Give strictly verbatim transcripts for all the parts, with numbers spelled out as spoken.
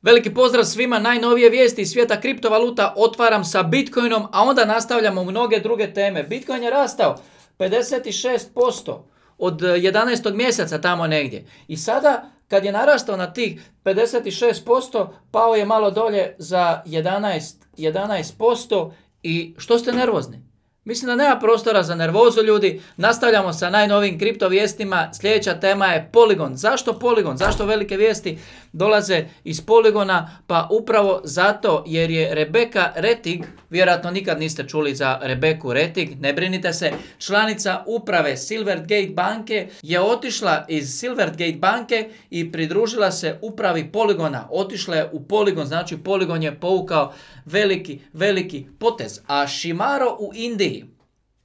Veliki pozdrav svima, najnovije vijesti iz svijeta kriptovaluta otvaram sa Bitcoinom, a onda nastavljamo mnoge druge teme. Bitcoin je rastao pedeset šest posto od jedanaestog mjeseca tamo negdje. I sada kad je narastao na tih pedeset šest posto, pao je malo dolje za jedanaest posto i što ste nervozni? Mislim da nema prostora za nervozu, ljudi. Nastavljamo sa najnovijim kripto vijestima. Sljedeća tema je Polygon. Zašto Polygon? Zašto velike vijesti dolaze iz Polygona? Pa upravo zato jer je Rebecca Rettig, vjerojatno nikad niste čuli za Rebeccu Rettig, ne brinite se, članica uprave Silvergate banke je otišla iz Silvergate banke i pridružila se upravi Polygona. Otišla je u Polygon, znači Polygon je povukao veliki, veliki potez. A Shimaro u Indiji,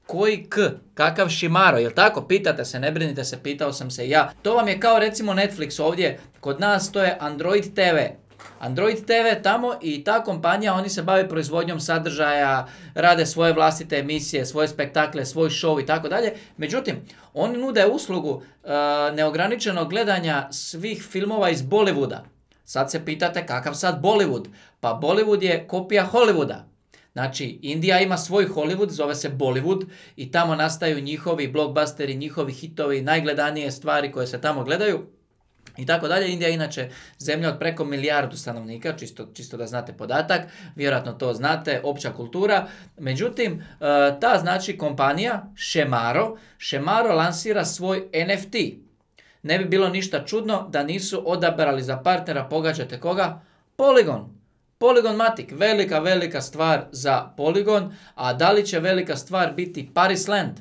koji k? Kakav Shimaro? Jel tako? Pitate se, ne brinite se, pitao sam se ja. To vam je kao recimo Netflix ovdje. Kod nas to je Android te ve. Android te ve tamo i ta kompanija, oni se bave proizvodnjom sadržaja, rade svoje vlastite emisije, svoje spektakle, svoj show i tako dalje. Međutim, oni nude uslugu uh, neograničenog gledanja svih filmova iz Bollywooda. Sad se pitate kakav sad Bollywood? Pa Bollywood je kopija Hollywooda. Znači, Indija ima svoj Hollywood, zove se Bollywood i tamo nastaju njihovi blockbusteri, njihovi hitovi, najgledanije stvari koje se tamo gledaju i tako dalje. Indija je inače zemlja od preko milijardu stanovnika, čisto, čisto da znate podatak, vjerojatno to znate, opća kultura. Međutim, ta znači kompanija Shimaro, Shimaro lansira svoj en ef te. Ne bi bilo ništa čudno da nisu odabrali za partnera, pogađate koga? Polygon. Polygon Matic, velika, velika stvar za Polygon, a da li će velika stvar biti Paris Land?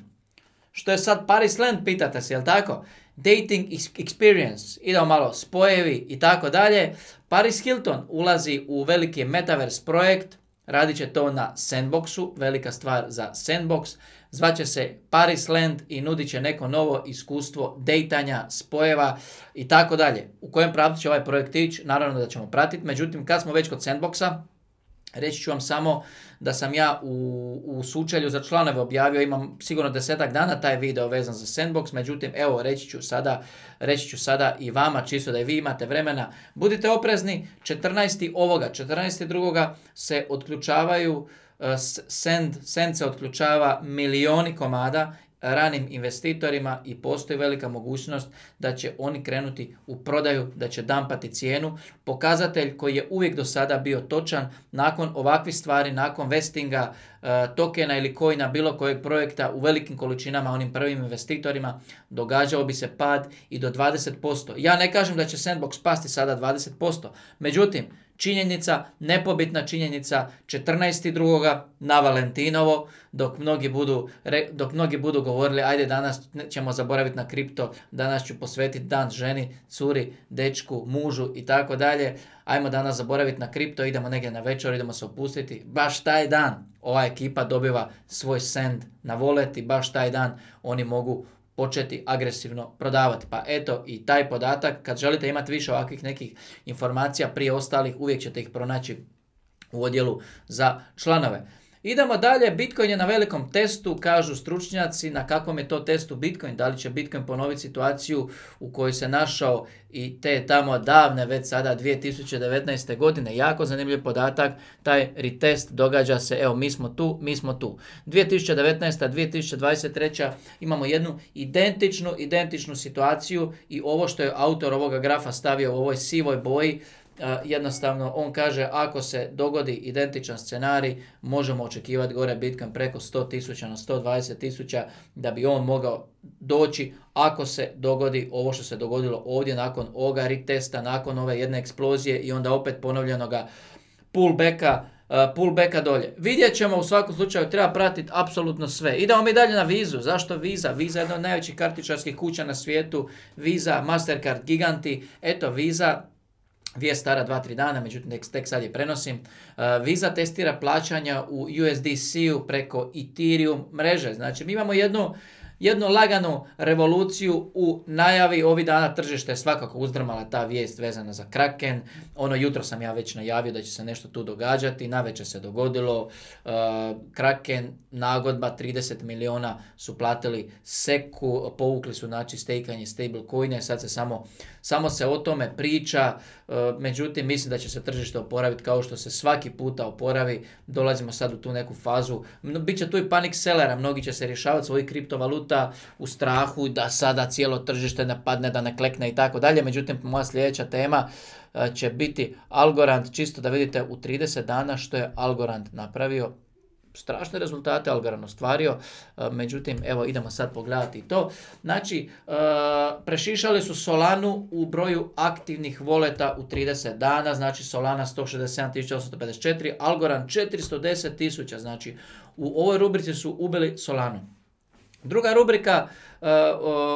Što je sad Paris Land, pitate se, jel tako? Dating experience, idemo malo spojevi i tako dalje. Paris Hilton ulazi u veliki metaverse projekt, radit će to na Sandboxu, velika stvar za Sandbox. Zvaće se Paris Land i nudit će neko novo iskustvo dejtanja, spojeva i tako dalje. U kojem pravcu će ovaj projekt ići, naravno da ćemo pratiti. Međutim, kad smo već kod Sandboxa, reći ću vam samo da sam ja u, u sučelju za članove objavio, imam sigurno desetak dana taj video vezan za Sandbox, međutim, evo, reći ću sada, reći ću sada i vama, čisto da i vi imate vremena. Budite oprezni, četrnaestog ovoga, četrnaestog drugoga se otključavaju Send, Send se otključava milioni komada ranim investitorima i postoji velika mogućnost da će oni krenuti u prodaju, da će dampati cijenu. Pokazatelj koji je uvijek do sada bio točan, nakon ovakvih stvari, nakon vestinga uh, tokena ili coina bilo kojeg projekta u velikim količinama onim prvim investitorima, događao bi se pad i do dvadeset posto. Ja ne kažem da će Sandbox pasti sada dvadeset posto, međutim, činjenica, nepobitna činjenica, četrnaestog drugoga na Valentinovo, dok mnogi budu, dok mnogi budu govorili ajde danas ćemo zaboraviti na kripto, danas ću posvetiti dan ženi, curi, dečku, mužu i tako dalje, ajmo danas zaboraviti na kripto, idemo negdje na večer, idemo se opustiti, baš taj dan ova ekipa dobiva svoj send na wallet i baš taj dan oni mogu početi agresivno prodavati. Pa eto i taj podatak, kad želite imati više ovakvih nekih informacija prije ostalih, uvijek ćete ih pronaći u odjelu za članove. Idemo dalje, Bitcoin je na velikom testu, kažu stručnjaci, na kakvom je to testu Bitcoin, da li će Bitcoin ponoviti situaciju u kojoj se našao i te tamo davne, već sada dvije tisuće devetnaeste. godine, jako zanimljiv podatak, taj retest događa se, evo mi smo tu, mi smo tu. dvije tisuće devetnaesta. dvije tisuće dvadeset treća. imamo jednu identičnu, identičnu situaciju i ovo što je autor ovoga grafa stavio u ovoj sivoj boji, Uh, jednostavno on kaže ako se dogodi identičan scenarij možemo očekivati gore Bitcoin preko sto tisuća na sto dvadeset tisuća da bi on mogao doći ako se dogodi ovo što se dogodilo ovdje nakon ovoga retesta, nakon ove jedne eksplozije i onda opet ponovljenoga pullbacka, uh, pullbacka dolje. Vidjet ćemo, u svakom slučaju treba pratiti apsolutno sve. Idemo mi dalje na Vizu. Zašto Visa? Visa je jedna od najvećih kartičarskih kuća na svijetu. Visa, Mastercard, giganti. Eto Visa, vijest stara dva tri dana, međutim tek sad je prenosim. Uh, Visa testira plaćanja u U S D C-u preko Ethereum mreže. Znači mi imamo jednu, jednu laganu revoluciju u najavi. Ovih dana tržište je svakako uzdrmala ta vijest vezana za Kraken. Ono jutro sam ja već najavio da će se nešto tu događati, navečer se dogodilo. Uh, Kraken, nagodba, trideset miliona su platili seku, povukli su znači stejkanje stablecoine, sad se samo, samo se o tome priča, uh, međutim mislim da će se tržište oporaviti kao što se svaki puta oporavi. Dolazimo sad u tu neku fazu, biće tu i panic sellera, mnogi će se rješavati svojih kriptovaluta u strahu da sada cijelo tržište ne padne, da ne klekne i tako dalje. Međutim, moja sljedeća tema će biti Algorand, čisto da vidite u trideset dana što je Algorand napravio. Strašne rezultate Algorand ostvario, međutim, evo idemo sad pogledati to. Znači, prešišali su Solanu u broju aktivnih voleta u trideset dana, znači Solana sto šezdeset sedam tisuća osamsto pedeset četiri, Algorand četiristo deset tisuća, znači u ovoj rubrici su ubili Solanu. Druga rubrika, uh,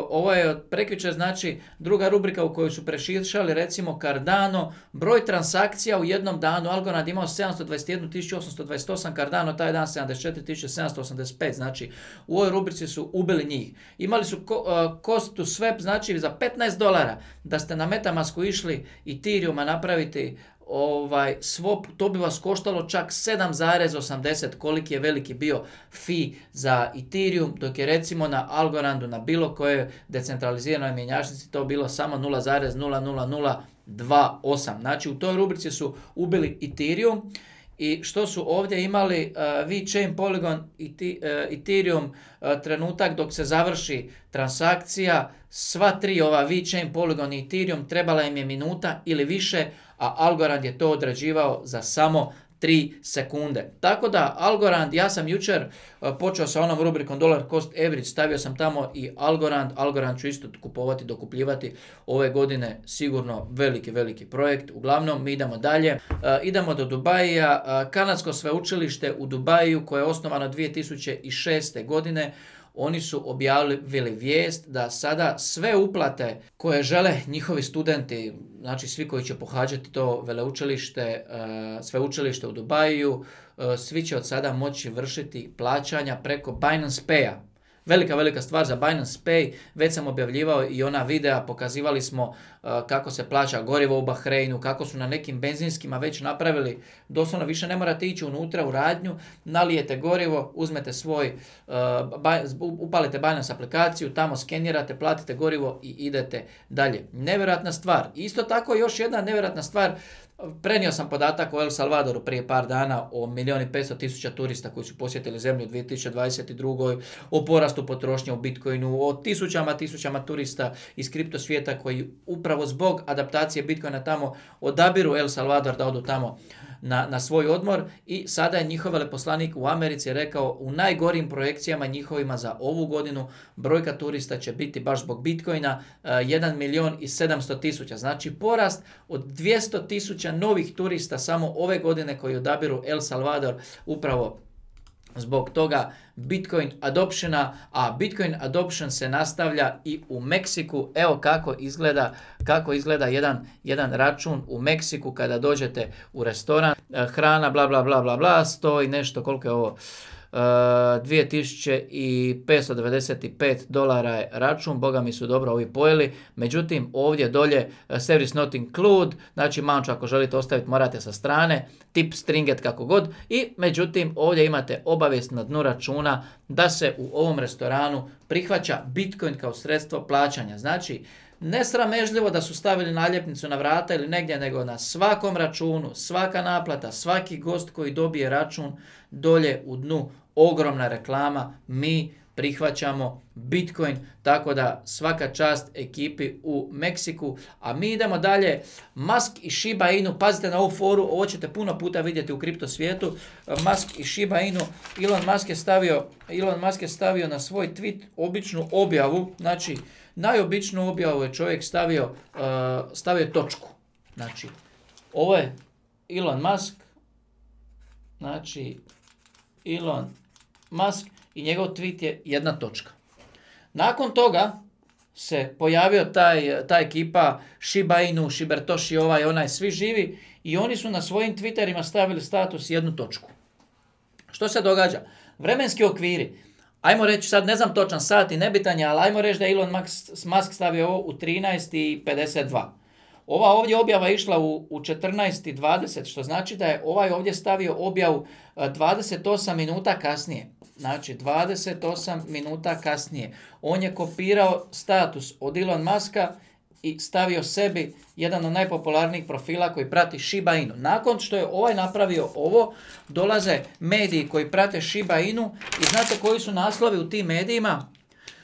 ovo je od prekjučer, znači druga rubrika u kojoj su prešišali recimo Cardano, broj transakcija u jednom danu, Algorand imao sedamsto dvadeset jedan tisuću osamsto dvadeset osam, Cardano taj dan sedamdeset četiri tisuće sedamsto osamdeset pet, znači u ovoj rubrici su ubili njih. Imali su uh, cost to swap, znači za petnaest dolara da ste na Metamasku išli Ethereuma napraviti ovaj swap, to bi vas koštalo čak sedam zarez osamdeset, koliki je veliki bio fee za Ethereum, dok je recimo na Algorandu, na bilo kojoj decentraliziranoj mjenjačnici to bilo samo nula zarez nula nula nula dva osam. Znači u toj rubrici su ubili Ethereum. I što su ovdje imali uh, VeChain, Polygon i uh, Ethereum uh, trenutak dok se završi transakcija, sva tri ova VeChain, Polygon i Ethereum trebala im je minuta ili više, a Algorand je to odrađivao za samo tri sekunde. Tako da Algorand, ja sam jučer uh, počeo sa onom rubrikom Dollar Cost Average, stavio sam tamo i Algorand, Algorand ću isto kupovati, dokupljivati ove godine, sigurno veliki, veliki projekt. Uglavnom, mi idemo dalje. Uh, idemo do Dubaija, uh, kanadsko sveučilište u Dubaju koje je osnovano dvije tisuće šeste godine. Oni su objavili vijest da sada sve uplate koje žele njihovi studenti, znači svi koji će pohađati to veleučilište, sveučilište u Dubaju, svi će od sada moći vršiti plaćanja preko Binance Paya. Velika, velika stvar za Binance Pay, već sam objavljivao i ona videa, pokazivali smo uh, kako se plaća gorivo u Bahreinu, kako su na nekim benzinskima već napravili, doslovno više ne morate ići unutra u radnju, nalijete gorivo, uzmete svoj, uh, upalite Binance aplikaciju, tamo skenirate, platite gorivo i idete dalje. Nevjerojatna stvar. Isto tako još jedna nevjerojatna stvar, prenio sam podatak o El Salvadoru prije par dana o milijun i petsto tisuća turista koji su posjetili zemlju u dvije tisuće dvadeset druge. o porastu potrošnje u Bitcoinu, o tisućama, tisućama turista iz kripto svijeta koji upravo zbog adaptacije Bitcoina tamo odabiru El Salvador da odu tamo na, na svoj odmor i sada je njihov veleposlanik u Americi rekao u najgorim projekcijama njihovima za ovu godinu brojka turista će biti baš zbog Bitcoina uh, jedan milijun i sedamsto tisuća, znači porast od dvjesto tisuća novih turista samo ove godine koji odabiru El Salvador upravo zbog toga Bitcoin adoptiona, a Bitcoin adoption se nastavlja i u Meksiku. Evo kako izgleda, kako izgleda jedan, jedan račun u Meksiku kada dođete u restoran. Hrana, bla, bla, bla, bla, bla, stoji nešto, koliko je ovo? Uh, dvije tisuće petsto devedeset pet dolara je račun, boga mi su dobro ovi pojeli, međutim ovdje dolje uh, service not include, znači manču ako želite ostaviti morate sa strane, tip stringet kako god i međutim ovdje imate obavijest na dnu računa da se u ovom restoranu prihvaća Bitcoin kao sredstvo plaćanja, znači ne sramežljivo da su stavili naljepnicu na vrata ili negdje, nego na svakom računu, svaka naplata, svaki gost koji dobije račun, dolje u dnu ogromna reklama, mi prihvaćamo Bitcoin, tako da svaka čast ekipi u Meksiku. A mi idemo dalje, Musk i Shiba Inu, pazite na ovu foru, ovo ćete puno puta vidjeti u kripto svijetu. Musk i Shiba Inu, Elon Musk je stavio, Elon Musk je stavio na svoj tweet običnu objavu, znači najobičnu objavu je čovjek stavio, uh, stavio točku. Znači, ovo je Elon Musk, znači Elon Musk i njegov tweet je jedna točka. Nakon toga se pojavio taj, ta ekipa Shiba Inu, Shibertoshi, ovaj, onaj, svi živi i oni su na svojim Twitterima stavili status jednu točku. Što se događa? Vremenski okviri. ajmo reći, sad ne znam točan sat i nebitan je, ali ajmo reći da je Elon Musk stavio ovo u trinaest i pedeset dva. Ova ovdje objava je išla u, u četrnaest i dvadeset, što znači da je ovaj ovdje stavio objavu dvadeset osam minuta kasnije. Znači, dvadeset osam minuta kasnije. On je kopirao status od Elon Muska i stavio sebi jedan od najpopularnijih profila koji prati Shiba Inu. Nakon što je ovaj napravio ovo, dolaze mediji koji prate Shiba Inu i znate koji su naslovi u tim medijima?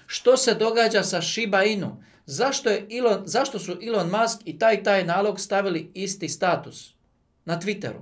Što se događa sa Shiba Inu? Zašto, je Elon, zašto su Elon Musk i taj taj nalog stavili isti status na Twitteru?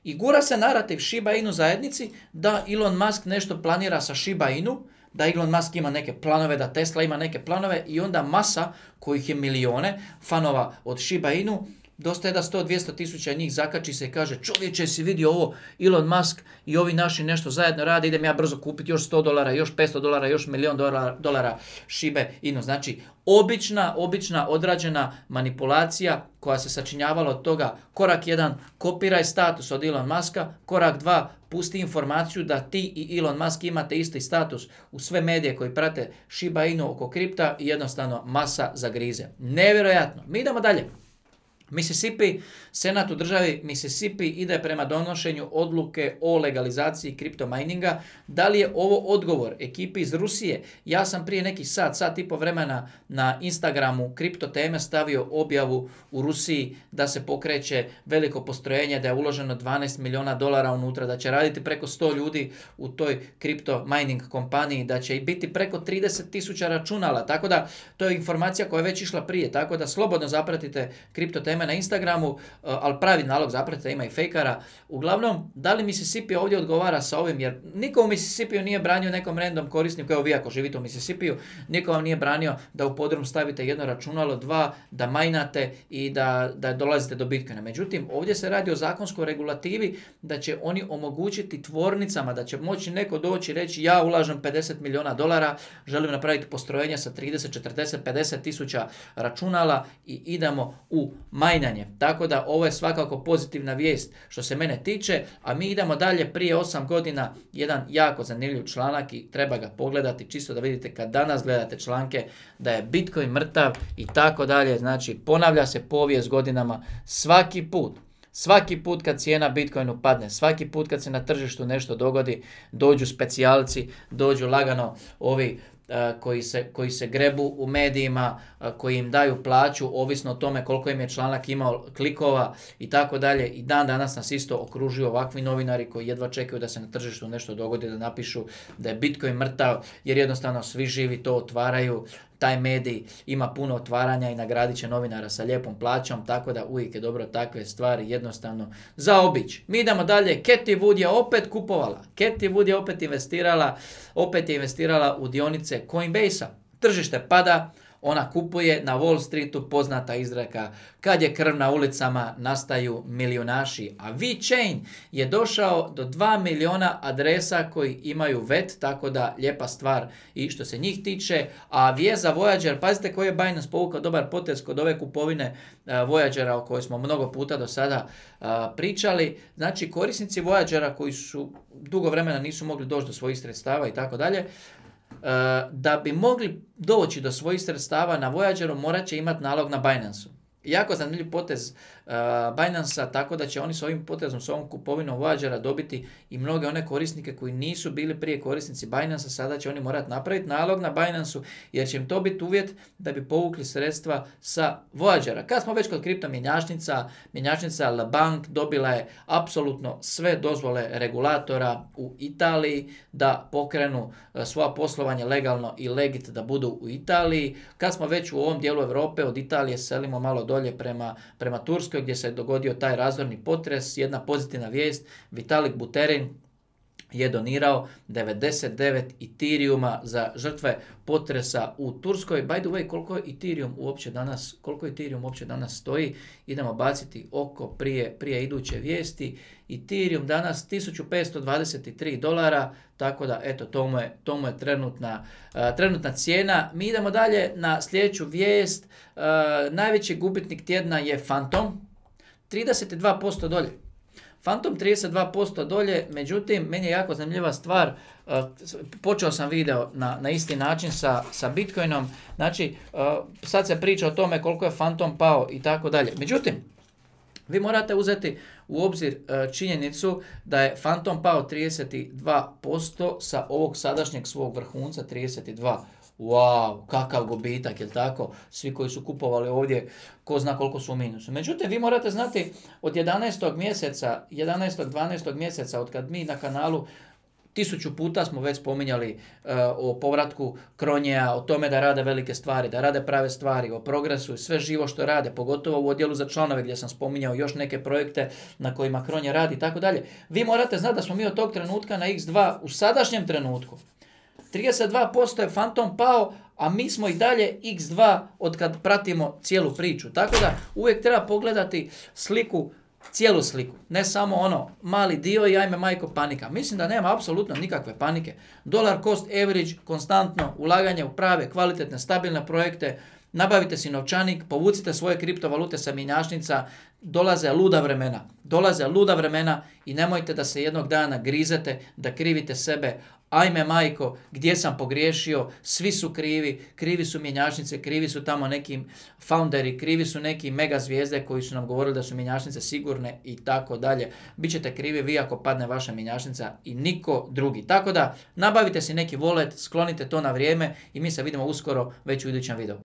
I gura se narativ Shiba Inu zajednici da Elon Musk nešto planira sa Shiba Inu, da Elon Musk ima neke planove, da Tesla ima neke planove i onda masa, kojih je milijone, fanova od Shiba Inu, dosta je da sto do dvjesto tisuća njih zakači se i kaže čovječe, si vidio ovo, Elon Musk i ovi naši nešto zajedno rade, idem ja brzo kupiti još sto dolara, još petsto dolara, još milijon dolara, dolara Shiba Inu. Znači, obična, obična odrađena manipulacija koja se sačinjavala od toga, korak jedan, kopiraj status od Elon Muska, korak dva, pusti informaciju da ti i Elon Musk imate isti status u sve medije koji prate Shiba Inu oko kripta i jednostavno masa zagrize. Nevjerojatno. Mi idemo dalje. Mississippi, senat u državi Mississippi ide prema donošenju odluke o legalizaciji kriptomininga. Da li je ovo odgovor ekipi iz Rusije? Ja sam prije neki sat, sat i po vremena na Instagramu kripto teme stavio objavu u Rusiji da se pokreće veliko postrojenje, da je uloženo dvanaest milijuna dolara unutra, da će raditi preko sto ljudi u toj kripto mining kompaniji, da će i biti preko trideset tisuća računala. Tako da to je informacija koja je već išla prije, tako da slobodno zapratite kripto teme na Instagramu, ali pravi nalog zapratite, ima i fejkara. Uglavnom, da li Mississippi ovdje odgovara sa ovim, jer niko u Mississippiju nije branio nekom random korisniku, evo vi ako živite u Mississippiju, niko vam nije branio da u podrum stavite jedno računalo, dva, da majnate i da, da dolazite do Bitcoina. Međutim, ovdje se radi o zakonskoj regulativi da će oni omogućiti tvornicama, da će moći neko doći i reći ja ulažem pedeset milijuna dolara, želim napraviti postrojenje sa trideset, četrdeset, pedeset tisuća računala i idemo u majnanje. Tako da ovo je svakako pozitivna vijest što se mene tiče, a mi idemo dalje. Prije osam godina jedan jako zanimljiv članak i treba ga pogledati čisto da vidite kad danas gledate članke da je Bitcoin mrtav i tako dalje. Znači ponavlja se povijest godinama svaki put. Svaki put kad cijena Bitcoinu padne, svaki put kad se na tržištu nešto dogodi, dođu specijalci, dođu lagano ovi Koji se, koji se grebu u medijima, koji im daju plaću, ovisno o tome koliko im je članak imao klikova i tako dalje. I dan danas nas isto okružuju ovakvi novinari koji jedva čekaju da se na tržištu nešto dogodi, da napišu da je Bitcoin mrtav, jer jednostavno svi živi to otvaraju. Taj medij ima puno otvaranja i nagradit će novinara sa lijepom plaćom, tako da uvijek je dobro takve stvari jednostavno zaobići. Mi idemo dalje. Cathie Wood je opet kupovala. Cathie Wood je opet investirala, opet je investirala u dionice Coinbase-a. Tržište pada, ona kupuje, na Wall Streetu poznata izreka kad je krv na ulicama nastaju milijunaši, a VeChain je došao do dva milijuna adresa koji imaju V E T, tako da lijepa stvar i što se njih tiče. A vijest za Voyager, pazite koji je Binance povukao dobar potez kod ove kupovine uh, Voyagera o kojoj smo mnogo puta do sada uh, pričali. Znači korisnici Voyagera koji su dugo vremena nisu mogli doći do svojih sredstava i tako dalje, da bi mogli doći do svojih sredstava na Voyageru morat će imati nalog na Binance-u. Jako zanimljiv potez uh, Binance-a, tako da će oni s ovim potezom, s ovom kupovinom Voyagera dobiti i mnoge one korisnike koji nisu bili prije korisnici Binance-a, sada će oni morati napraviti nalog na Binance-u, jer će im to biti uvjet da bi povukli sredstva sa Voyagera. Kad smo već kod kripto mjenjačnica, mjenjačnica La Banque dobila je apsolutno sve dozvole regulatora u Italiji da pokrenu uh, svoja poslovanje legalno i legit da budu u Italiji. Kad smo već u ovom dijelu Europe, od Italije selimo malo dolje prema, prema Turskoj gdje se dogodio taj razorni potres. Jedna pozitivna vijest, Vitalik Buterin je donirao devedeset devet Ethereuma za žrtve potresa u Turskoj. By the way, koliko je Ethereum uopće danas, koliko Ethereum uopće danas stoji? Idemo baciti oko prije, prije iduće vijesti. Ethereum danas tisuću petsto dvadeset tri dolara, tako da eto, to mu je, to mu je trenutna, uh, trenutna cijena. Mi idemo dalje na sljedeću vijest. Uh, najveći gubitnik tjedna je Fantom, trideset dva posto dolje. Phantom trideset dva posto dolje, međutim, meni je jako zanimljiva stvar, uh, počeo sam video na, na isti način sa, sa Bitcoinom, znači uh, sad se priča o tome koliko je Phantom pao i tako dalje. Međutim, vi morate uzeti u obzir uh, činjenicu da je Phantom pao trideset dva posto sa ovog sadašnjeg svog vrhunca trideset dva. Wow, kakav gubitak, jel tako? Svi koji su kupovali ovdje, ko zna koliko su u minusu. Međutim, vi morate znati od jedanaestog mjeseca, jedanaestog dvanaestog mjeseca, od kad mi na kanalu tisuću puta smo već spominjali uh, o povratku Kronjeja, o tome da rade velike stvari, da rade prave stvari, o progresu i sve živo što rade, pogotovo u odjelu za članove gdje sam spominjao još neke projekte na kojima Kronje radi i tako dalje. Vi morate znati da smo mi od tog trenutka na iks dva u sadašnjem trenutku. trideset dva posto je Phantom pao, a mi smo i dalje iks dva od kad pratimo cijelu priču. Tako da uvijek treba pogledati sliku, cijelu sliku. Ne samo ono mali dio i ajme majko panika. Mislim da nema apsolutno nikakve panike. Dollar cost average, konstantno ulaganje u prave, kvalitetne, stabilne projekte. Nabavite si novčanik, povucite svoje kriptovalute sa mjenjačnica, dolaze luda vremena. Dolaze luda vremena i nemojte da se jednog dana grizete, da krivite sebe. Ajme majko, gdje sam pogriješio, svi su krivi, krivi su mjenjačnice, krivi su tamo neki founderi, krivi su neki mega zvijezde koji su nam govorili da su mjenjačnice sigurne i tako dalje. Bićete krivi vi ako padne vaša mjenjačnica i niko drugi. Tako da nabavite si neki wallet, sklonite to na vrijeme i mi se vidimo uskoro već u idućem videu.